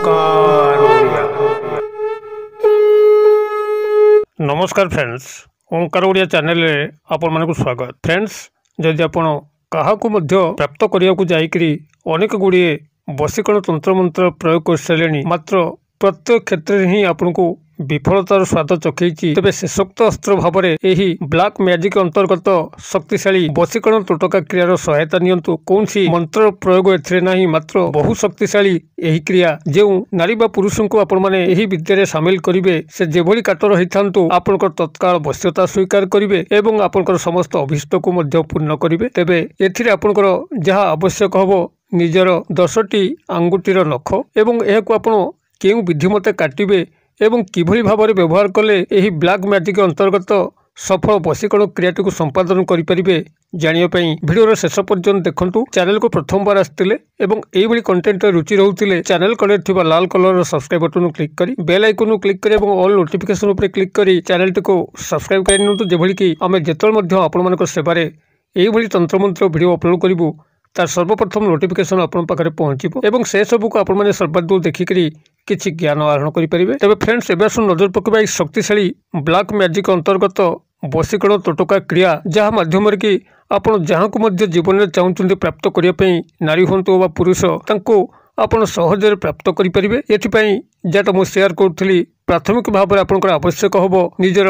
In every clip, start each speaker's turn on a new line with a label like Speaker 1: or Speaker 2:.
Speaker 1: ଓଙ୍କାର ଓଡ଼ିଆ। ନମସ୍କାର ଫ୍ରେଣ୍ଡସ୍, ଓଙ୍କାର ଓଡ଼ିଆ ଚ୍ୟାନେଲରେ ଆପଣମାନଙ୍କୁ ସ୍ୱାଗତ। ଫ୍ରେଣ୍ଡସ୍, ଯଦି ଆପଣ କାହାକୁ ମଧ୍ୟ ପ୍ରାପ୍ତ କରିବାକୁ ଯାଇକରି ଅନେକ ଗୁଡ଼ିଏ ବଶୀକରଣ ତନ୍ତ୍ରମନ୍ତ୍ର ପ୍ରୟୋଗ କରିସାରିଲେଣି, ମାତ୍ର ପ୍ରତ୍ୟେକ କ୍ଷେତ୍ରରେ ହିଁ ଆପଣଙ୍କୁ ବିଫଳତାର ସ୍ୱାଦ ଚଖେଇଛି, ତେବେ ଶେଷୋକ୍ତ ଅସ୍ତ୍ର ଭାବରେ ଏହି ବ୍ଲାକ୍ ମ୍ୟାଜିକ୍ ଅନ୍ତର୍ଗତ ଶକ୍ତିଶାଳୀ ବଶୀକରଣ ତୋଟକା କ୍ରିୟାର ସହାୟତା ନିଅନ୍ତୁ। କୌଣସି ମନ୍ତ୍ର ପ୍ରୟୋଗ ଏଥିରେ ନାହିଁ, ମାତ୍ର ବହୁ ଶକ୍ତିଶାଳୀ ଏହି କ୍ରିୟା। ଯେଉଁ ନାରୀ ବା ପୁରୁଷଙ୍କୁ ଆପଣମାନେ ଏହି ବିଦ୍ୟାରେ ସାମିଲ କରିବେ, ସେ ଯେଭଳି କାଟର ହେଇଥାନ୍ତୁ, ଆପଣଙ୍କର ତତ୍କାଳ ବଶ୍ୟତା ସ୍ୱୀକାର କରିବେ ଏବଂ ଆପଣଙ୍କର ସମସ୍ତ ଅଭୀଷ୍ଟକୁ ମଧ୍ୟ ପୂର୍ଣ୍ଣ କରିବେ। ତେବେ ଏଥିରେ ଆପଣଙ୍କର ଯାହା ଆବଶ୍ୟକ ହେବ, ନିଜର 10ଟି ଆଙ୍ଗୁଠିର ନଖ, ଏବଂ ଏହାକୁ ଆପଣ କେଉଁ ବିଧି ମତେ କାଟିବେ ଏବଂ କିଭଳି ଭାବରେ ବ୍ୟବହାର କଲେ ଏହି ବ୍ଲାକ୍ ମ୍ୟାଜିକ୍ ଅନ୍ତର୍ଗତ ସଫଳ ବଶୀକରଣ କ୍ରିୟାଟିକୁ ସମ୍ପାଦନ କରିପାରିବେ, ଜାଣିବା ପାଇଁ ଭିଡ଼ିଓର ଶେଷ ପର୍ଯ୍ୟନ୍ତ ଦେଖନ୍ତୁ। ଚ୍ୟାନେଲକୁ ପ୍ରଥମବାର ଆସିଥିଲେ ଏବଂ ଏଇଭଳି କଣ୍ଟେଣ୍ଟରେ ରୁଚି ରହୁଥିଲେ, ଚ୍ୟାନେଲ କଡ଼ରେ ଥିବା ଲାଲ କଲରର ସବସ୍କ୍ରାଇବ୍ ବଟନକୁ କ୍ଲିକ୍ କରି, ବେଲ୍ ଆଇକନକୁ କ୍ଲିକ୍ କରି ଏବଂ ଅଲ୍ ନୋଟିଫିକେସନ୍ ଉପରେ କ୍ଲିକ୍ କରି ଚ୍ୟାନେଲଟିକୁ ସବସ୍କ୍ରାଇବ୍ କରି ନିଅନ୍ତୁ, ଯେଭଳି କି ଆମେ ଯେତେବେଳେ ମଧ୍ୟ ଆପଣମାନଙ୍କ ସେବାରେ ଏଇଭଳି ତନ୍ତ୍ରମନ୍ତ୍ର ଭିଡ଼ିଓ ଅପଲୋଡ଼ କରିବୁ, ତାର ସର୍ବପ୍ରଥମ ନୋଟିଫିକେସନ୍ ଆପଣଙ୍କ ପାଖରେ ପହଞ୍ଚିବ ଏବଂ ସେସବୁକୁ ଆପଣମାନେ ସର୍ବାଦୌ ଦେଖିକରି କିଛି ଜ୍ଞାନ ଆହରଣ କରିପାରିବେ। ତେବେ ଫ୍ରେଣ୍ଡସ୍, ଏବେ ଆସନ୍ତୁ ନଜର ପକାଇବା ଏହି ଶକ୍ତିଶାଳୀ ବ୍ଲାକ୍ ମ୍ୟାଜିକ୍ ଅନ୍ତର୍ଗତ ବଶୀକରଣ ତୋଟକା କ୍ରିୟା, ଯାହା ମାଧ୍ୟମରେ କି ଆପଣ ଯାହାକୁ ମଧ୍ୟ ଜୀବନରେ ଚାହୁଁଛନ୍ତି ପ୍ରାପ୍ତ କରିବା ପାଇଁ, ନାରୀ ହୁଅନ୍ତୁ ବା ପୁରୁଷ, ତାଙ୍କୁ ଆପଣ ସହଜରେ ପ୍ରାପ୍ତ କରିପାରିବେ। ଏଥିପାଇଁ ଯାହାଟା ମୁଁ ସେୟାର କରୁଥିଲି, ପ୍ରାଥମିକ ଭାବରେ ଆପଣଙ୍କର ଆବଶ୍ୟକ ହେବ ନିଜର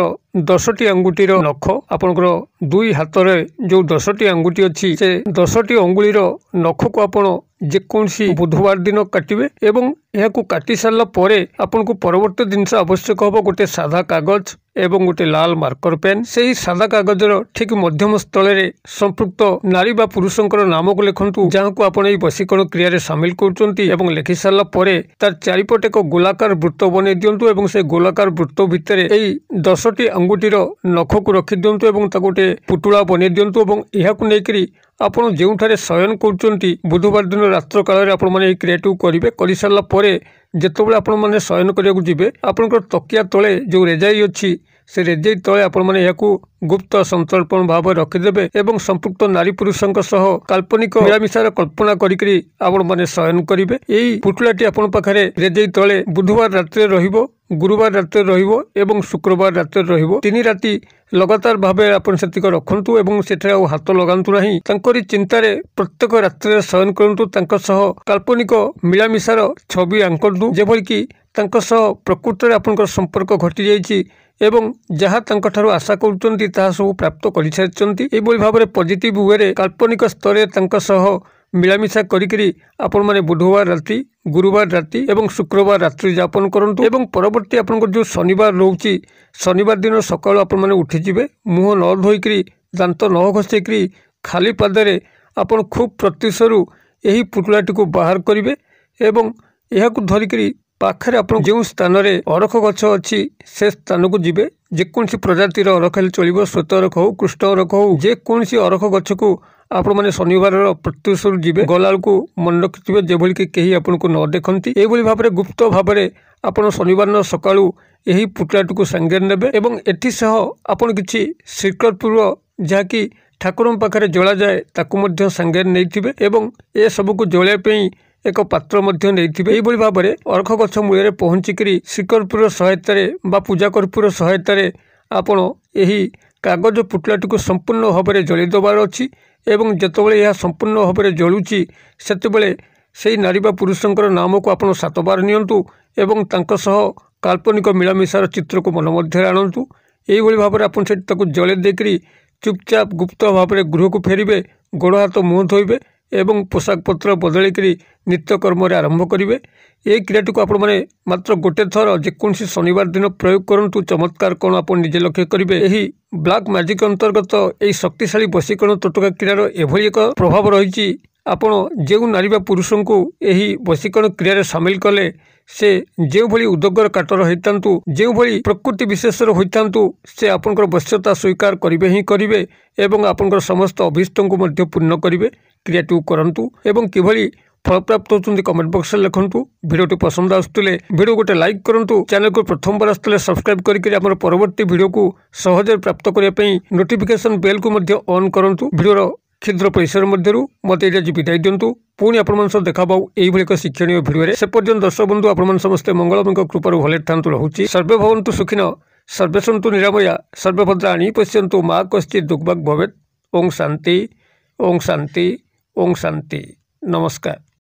Speaker 1: 10ଟି ଆଙ୍ଗୁଠିର ନଖ। ଆପଣଙ୍କର ଦୁଇ ହାତରେ ଯେଉଁ 10ଟି ଆଙ୍ଗୁଠି ଅଛି, ସେ 10ଟି ଅଙ୍ଗୁଳିର ନଖକୁ ଆପଣ ଯେକୌଣସି ବୁଧବାର ଦିନ କାଟିବେ ଏବଂ ଏହାକୁ କାଟି ସାରିଲା ପରେ ଆପଣଙ୍କୁ ପରବର୍ତ୍ତୀ ଜିନିଷ ଆବଶ୍ୟକ ହେବ ଗୋଟେ ସାଧା କାଗଜ ଏବଂ ଗୋଟେ ଲାଲ ମାର୍କର ପେନ୍। ସେହି ସାଦା କାଗଜର ଠିକ୍ ମଧ୍ୟମ ସ୍ଥଳରେ ସମ୍ପୃକ୍ତ ନାରୀ ବା ପୁରୁଷଙ୍କର ନାମକୁ ଲେଖନ୍ତୁ, ଯାହାକୁ ଆପଣ ଏହି ବଶୀକରଣ କ୍ରିୟାରେ ସାମିଲ କରୁଛନ୍ତି, ଏବଂ ଲେଖି ସାରିଲା ପରେ ତାର ଚାରିପଟେ ଏକ ଗୋଲାକାର ବୃତ୍ତ ବନେଇ ଦିଅନ୍ତୁ ଏବଂ ସେ ଗୋଲାକାର ବୃତ୍ତ ଭିତରେ ଏଇ 10ଟି ଆଙ୍ଗୁଠିର ନଖକୁ ରଖିଦିଅନ୍ତୁ ଏବଂ ତାକୁ ଗୋଟେ ପୁଟୁଳା ବନେଇ ଦିଅନ୍ତୁ। ଏବଂ ଏହାକୁ ନେଇକରି ଆପଣ ଯେଉଁଠାରେ ଶୟନ କରୁଛନ୍ତି, ବୁଧବାର ଦିନ ରାତ୍ର କାଳରେ ଆପଣମାନେ ଏହି କ୍ରିୟାଟିକୁ କରିବେ। କରିସାରିଲା ପରେ ଯେତେବେଳେ ଆପଣମାନେ ଶୟନ କରିବାକୁ ଯିବେ, ଆପଣଙ୍କର ତକିଆ ତଳେ ଯେଉଁ ରେଜାଇ ଅଛି, ସେ ରେଜେଇ ତଳେ ଆପଣମାନେ ଏହାକୁ ଗୁପ୍ତ ସନ୍ତର୍ପଣ ଭାବରେ ରଖିଦେବେ ଏବଂ ସମ୍ପୃକ୍ତ ନାରୀ ପୁରୁଷଙ୍କ ସହ କାଳ୍ପନିକ ମିଳାମିଶାର କଳ୍ପନା କରିକରି ଆପଣମାନେ ଶୟନ କରିବେ। ଏଇ ପୁଟୁଳାଟି ଆପଣଙ୍କ ପାଖରେ ରେଜେଇ ତଳେ ବୁଧବାର ରାତିରେ ରହିବ, ଗୁରୁବାର ରାତିରେ ରହିବ ଏବଂ ଶୁକ୍ରବାର ରାତିରେ ରହିବ। 3 ରାତି ଲଗାତାର ଭାବେ ଆପଣ ସେତିକ ରଖନ୍ତୁ ଏବଂ ସେଠାରେ ଆଉ ହାତ ଲଗାନ୍ତୁ ନାହିଁ। ତାଙ୍କରି ଚିନ୍ତାରେ ପ୍ରତ୍ୟେକ ରାତ୍ରିରେ ଶୟନ କରନ୍ତୁ, ତାଙ୍କ ସହ କାଳ୍ପନିକ ମିଳାମିଶାର ଛବି ଆଙ୍କନ୍ତୁ, ଯେଭଳିକି ତାଙ୍କ ସହ ପ୍ରକୃତରେ ଆପଣଙ୍କର ସମ୍ପର୍କ ଘଟିଯାଇଛି ଏବଂ ଯାହା ତାଙ୍କଠାରୁ ଆଶା କରୁଛନ୍ତି ତାହା ସବୁ ପ୍ରାପ୍ତ କରିସାରିଛନ୍ତି। ଏଇଭଳି ଭାବରେ ପଜିଟିଭ ୱେରେ କାଳ୍ପନିକ ସ୍ତରରେ ତାଙ୍କ ସହ ମିଳାମିଶା କରିକରି ଆପଣମାନେ ବୁଧବାର ରାତି, ଗୁରୁବାର ରାତି ଏବଂ ଶୁକ୍ରବାର ରାତ୍ରି ଯାପନ କରନ୍ତୁ। ଏବଂ ପରବର୍ତ୍ତୀ ଆପଣଙ୍କର ଯେଉଁ ଶନିବାର ରହୁଛି, ଶନିବାର ଦିନ ସକାଳୁ ଆପଣମାନେ ଉଠିଯିବେ, ମୁହଁ ନ ଧୋଇକରି, ଦାନ୍ତ ନ ଘଷେଇକରି, ଖାଲି ପାଦରେ ଆପଣ ଖୁବ୍ ପ୍ରତ୍ୟୁଷରୁ ଏହି ପୁଟୁଳାଟିକୁ ବାହାର କରିବେ ଏବଂ ଏହାକୁ ଧରିକରି ପାଖରେ ଆପଣ ଯେଉଁ ସ୍ଥାନରେ ଅରଖ ଗଛ ଅଛି ସେ ସ୍ଥାନକୁ ଯିବେ। ଯେକୌଣସି ପ୍ରଜାତିର ଅରଖ ହେଲେ ଚଳିବ, ଶ୍ୱେତ ଅରଖ ହଉ, କୃଷ୍ଣ ଅରଖ ହଉ, ଯେକୌଣସି ଅରଖ ଗଛକୁ ଆପଣମାନେ ଶନିବାରର ପ୍ରତ୍ୟୁଷରୁ ଯିବେ। ଗଲାବେଳକୁ ମନେ ରଖିଥିବେ ଯେଭଳିକି କେହି ଆପଣଙ୍କୁ ନ ଦେଖନ୍ତି। ଏଇଭଳି ଭାବରେ ଗୁପ୍ତ ଭାବରେ ଆପଣ ଶନିବାର ଦିନ ସକାଳୁ ଏହି ପୁଟୁଳାଟିକୁ ସାଙ୍ଗରେ ନେବେ ଏବଂ ଏଥିସହ ଆପଣ କିଛି ଶ୍ରୀକର୍ପୂର, ଯାହାକି ଠାକୁରଙ୍କ ପାଖରେ ଜଳାଯାଏ, ତାକୁ ମଧ୍ୟ ସାଙ୍ଗରେ ନେଇଥିବେ ଏବଂ ଏସବୁକୁ ଜଳାଇବା ପାଇଁ ଏକ ପାତ୍ର ମଧ୍ୟ ନେଇଥିବେ। ଏଇଭଳି ଭାବରେ ଅରଖ ଗଛ ମୂଳରେ ପହଞ୍ଚିକରି ଶ୍ରୀକର୍ପୂର ସହାୟତାରେ ବା ପୂଜା କର୍ପୂର ସହାୟତାରେ ଆପଣ ଏହି କାଗଜ ପୁଟୁଳାଟିକୁ ସମ୍ପୂର୍ଣ୍ଣ ଭାବରେ ଜଳାଇ ଦେବାର ଅଛି ଏବଂ ଯେତେବେଳେ ଏହା ସମ୍ପୂର୍ଣ୍ଣ ଭାବରେ ଜଳୁଛି, ସେତେବେଳେ ସେଇ ନାରୀ ବା ପୁରୁଷଙ୍କର ନାମକୁ ଆପଣ 7 ବାର ନିଅନ୍ତୁ ଏବଂ ତାଙ୍କ ସହ କାଳ୍ପନିକ ମିଳାମିଶାର ଚିତ୍ରକୁ ମନ ମଧ୍ୟରେ ଆଣନ୍ତୁ। ଏଇଭଳି ଭାବରେ ଆପଣ ସେଠି ତାକୁ ଜଳାଇ ଦେଇକରି ଚୁପଚାପ ଗୁପ୍ତ ଭାବରେ ଗୃହକୁ ଫେରିବେ, ଗୋଡ଼ ହାତ ମୁହଁ ଧୋଇବେ ଏବଂ ପୋଷାକ ପତ୍ର ବଦଳେଇକରି ନିତ୍ୟକର୍ମରେ ଆରମ୍ଭ କରିବେ। ଏହି କ୍ରିୟାଟିକୁ ଆପଣମାନେ ମାତ୍ର ଗୋଟେ ଥର ଯେକୌଣସି ଶନିବାର ଦିନ ପ୍ରୟୋଗ କରନ୍ତୁ, ଚମତ୍କାର କ'ଣ ଆପଣ ନିଜେ ଲକ୍ଷ୍ୟ କରିବେ। ଏହି ବ୍ଲାକ୍ ମ୍ୟାଜିକ୍ ଅନ୍ତର୍ଗତ ଏହି ଶକ୍ତିଶାଳୀ ବଶୀକରଣ ତୋଟକା କ୍ରିୟାର ଏଭଳି ଏକ ପ୍ରଭାବ ରହିଛି, ଆପଣ ଯେଉଁ ନାରୀ ବା ପୁରୁଷଙ୍କୁ ଏହି ବଶୀକରଣ କ୍ରିୟାରେ ସାମିଲ କଲେ, ସେ ଯେଉଁଭଳି ଉଦଗର କାଟର ହୋଇଥାନ୍ତୁ, ଯେଉଁଭଳି ପ୍ରକୃତି ବିଶେଷର ହୋଇଥାନ୍ତୁ, ସେ ଆପଣଙ୍କର ବଶ୍ୟତା ସ୍ୱୀକାର କରିବେ ହିଁ କରିବେ ଏବଂ ଆପଣଙ୍କର ସମସ୍ତ ଅଭୀଷ୍ଟଙ୍କୁ ମଧ୍ୟ ପୂର୍ଣ୍ଣ କରିବେ। କ୍ରିୟାଟିକୁ କରନ୍ତୁ ଏବଂ କିଭଳି ଫଳପ୍ରାପ୍ତ ହେଉଛନ୍ତି କମେଣ୍ଟ ବକ୍ସରେ ଲେଖନ୍ତୁ। ଭିଡ଼ିଓଟି ପସନ୍ଦ ଆସୁଥିଲେ ଭିଡ଼ିଓ ଗୋଟେ ଲାଇକ୍ କରନ୍ତୁ। ଚ୍ୟାନେଲକୁ ପ୍ରଥମବାର ଆସୁଥିଲେ ସବସ୍କ୍ରାଇବ୍ କରିକି ଆମର ପରବର୍ତ୍ତୀ ଭିଡ଼ିଓକୁ ସହଜରେ ପ୍ରାପ୍ତ କରିବା ପାଇଁ ନୋଟିଫିକେସନ୍ ବେଲ୍କୁ ମଧ୍ୟ ଅନ୍ କରନ୍ତୁ। ଭିଡ଼ିଓର କ୍ଷୁଦ୍ର ପରିସର ମଧ୍ୟରୁ ମୋତେ ଏଇଠି ଆଜି ବିଦାୟ ଦିଅନ୍ତୁ। ପୁଣି ଆପଣମାନଙ୍କ ସହ ଦେଖା ହେବ ଏଇଭଳି ଏକ ଶିକ୍ଷଣୀୟ ଭିଡ଼ିଓରେ। ସେ ପର୍ଯ୍ୟନ୍ତ ଦର୍ଶକ ବନ୍ଧୁ, ଆପଣମାନେ ସମସ୍ତେ ମଙ୍ଗଳମୟଙ୍କ କୃପାରୁ ଭଲରେ ଥାନ୍ତୁ ରହୁଛି। ସର୍ବେ ଭବନ୍ତୁ ସୁଖିନ, ସର୍ବେ ସନ୍ତୁ ନିରାମୟା, ସର୍ବେ ଭଦ୍ରାଣି ପଶ୍ୟନ୍ତୁ, ମା କଶ୍ଚିତ୍ ଦୁର୍ଭାଗ ଭବେତ୍। ଓಂ ଶାନ୍ତି, ଓಂ ଶାନ୍ତି, ଓಂ ଶାନ୍ତି। ନମସ୍କାର।